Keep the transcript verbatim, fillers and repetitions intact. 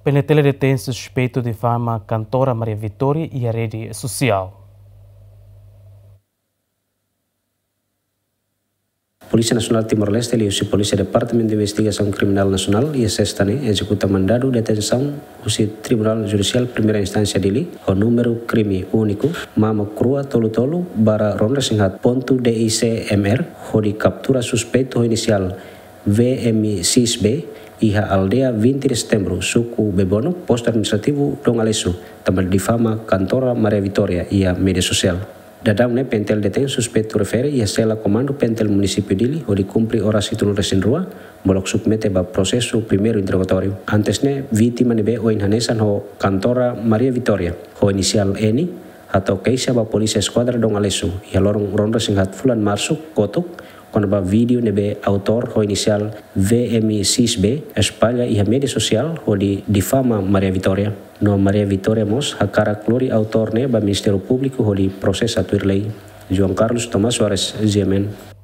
PNTL detein suspeitu difama kantora Maria Vitória iha rede sosiál. Polísia Nasionál Timor-Leste liuhusi Polísia Departamentu Investigasaun Kriminál Nasionál iha sesta ne'e ezekuta mandadu detensaun husi Tribunál Judisiál Primeira Instánsia Dili ho númeru krime úniku, mama krua tolu tolu barra ronda sin haat pontu D I C M R, hodi kaptura suspeitu ho inisiál V M X B iha aldeia vinte de Setembro, suku Bebonuk, postu administrativu Dom Aleixo, tanba difama kantora Maria Vitória iha média sosiál. Daudaun ne'e PNTL detein suspeitu refere iha sela komandu PNTL Munisípiu Dili hodi kumpre oras hitunulu resin rua, molok submete ba prosesu primeiru interrogatóriu. Antes ne'e, vítima ne'ebé ohin hanesan ho kantora Maria Vitória, ho inisiál N, hato'o keixa ba Polísia Eskuadra Dom Aleixo iha loron ronda sin haat fulan Marsu kotuk, kona-ba vídeo ne'ebé autór ho inisiál V M X B espalla iha média sosiál hodi difama Maria Vitória. No Maria Vitória mós hakarak lori autór ne'e ba Ministériu Públiku hodi prosesa tuir lei. João Carlos Tomás Soares, G M N.